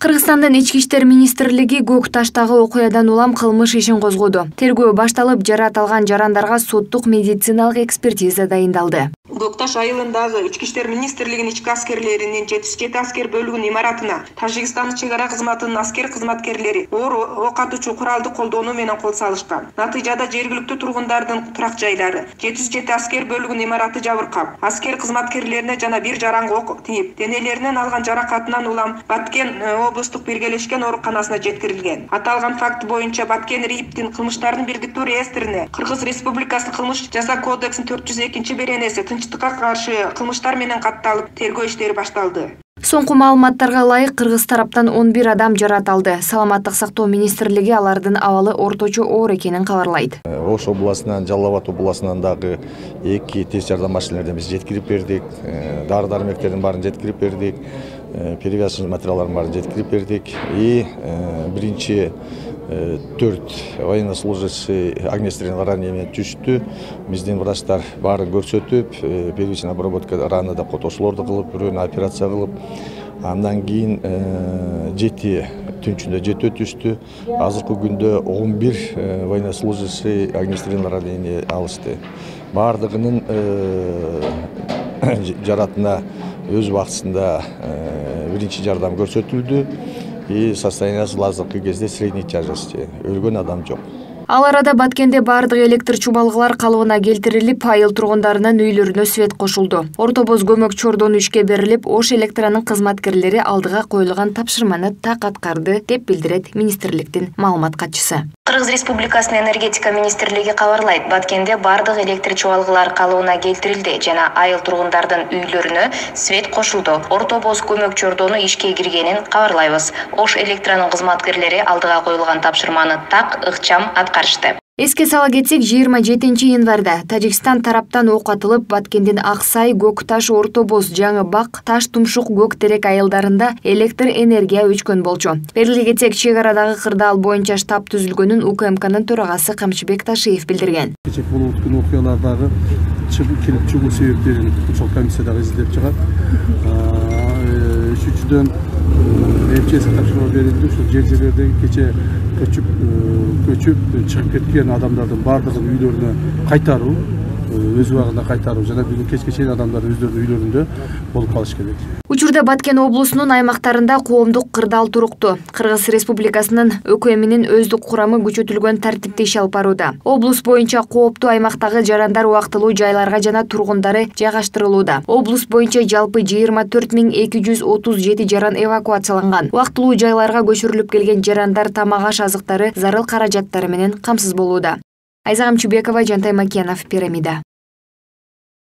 Кыргызстандын Ички иштер министрлиги Көк Таштагы окуядан улам кылмыш ишин козгоду. Тергөө башталып, жаратылган жарандарга соттук медициналык экспертиза дайындалды. Көк Таш айылындагы Ички иштер министрлигинин ички аскерлеринин 77 аскер бөлүгүнүн имаратына Тажикстандын чек ара кызматынын аскер кызматкерлери оор ок атуучу куралды колдонуу менен кол салышкан. Натыйжада жергиликтүү тургундардын турак жайлары 707 аскер бөлүгүнүн имараты жабыркап, аскер кызматкерлерине жана бир жаранга ок тийип, денелеринен алган жаракатынан улам Баткен облустук биргелешкен ооруканасына жеткирилген. Аталган факт боюнча Баткен РИИПтин кылмыштардын биргиктүү реестрине Кыргыз Республикасынын кылмыш жаза кодексинин 402-беренеси тынчтыкка каршы кылмыштар менен катталып, тергөө иштери башталды. Соңку маалыматтарга ылайык, кыргыз тараптан 11 адам жаратылды. Саламаттык сактоо министрлиги алардын абалы орточо оор экенин кабарлайт. Ош областынан, Жалал Абад областынан дагы 2 тез жардам машиналарын биз жеткирип бердик. Дары-дармектердин баарын жеткирип бердик. Перевязочный материалдардын баарын жеткирип бердик. И биринчи 4 военнослужащий огнестрельный ранение менен түштү. Биздин врачтар баарын көрсөтүп, первичная обработка раны да котошуулорду кылып, бирөөнү операция кылып, андан кийин 7 түнчүндө 7 түштү. Азыркы күндө 11 военнослужащий огнестрельный ранение алышты. Бардыгынын жаратына өз убактысында биринчи жардам көрсөтүлдү. И состояниясы азыркы кезде средний тяжести. Өлгөн адам жок. Ал арада Баткенде бардык электр чубалгылар калыбына келтирилип, айыл тургундарынын үйлөрүнө свет кошулду. Орто Боз көмөк чордону ишке берилип, Ош электранын кызматкерлери алдыга коюлган тапшырманы так аткарды, деп билдирет министрликтин маалымат катчысы. Кыргыз Республикасынын энергетика министрлиги кабарлайт, Баткенде бардык электр чубалгылар калыбына келтирилди жана айыл тургундардын үйлөрүнө свет кошулду. Орто Боз көмөк чордону ишке киргенин кабарлайбыз. Ош электранын кызматкерлери алдыга коюлган тапшырманы так ыкчам аткарышты. Эске сала кетсек, 27 январда Тажикстан тараптан ок атылып, Баткендин Аксай, Көк Таш, Орто Боз, Жаңы Бак, Таш Тумшук, Көк Терек айылдарында электр энергия өчкөн болчу. Белгилей кетсек, чек арадагы кырдаал боюнча штаб түзүлгөнүн УКМКнын төрагасы Камчыбек Ташиев билдирген. Кечээ болуп өткөн окуялардагы келип чыгуу себептерин ушул комиссияда изилдеп чыгат. Үчүнчүдөн МЧС тапшырма берилди. Ушул жерлердеги кечээ көчүп чыгып кеткен адамдардын бардыгын үйлөрүнө кайтаруу, өз убагында кайтаруу жана бүгүн кечке чейин адамдар өздөрүнүн үйлөрүндө болуп калыш керек. Учурда Баткен облусунун аймактарында коомдук кырдаал туруктуу. Кыргыз Республикасынын ÖKM'нин өздүк курамы күчөтүлгөн тартипте иш алып барууда. Облус боюнча кооптуу аймактагы жарандар убактылуу жайларга жана тургундары жайгаштырылууда. Облус боюнча жалпы 24237 жаран эвакуацияланган. Убактылуу жайларга көчүрүлүп келген жарандар тамак аш азыктары, зарыл каражаттары менен камсыз болууда. Айза Камчыбекова, Жантай Макенов, Пирамида.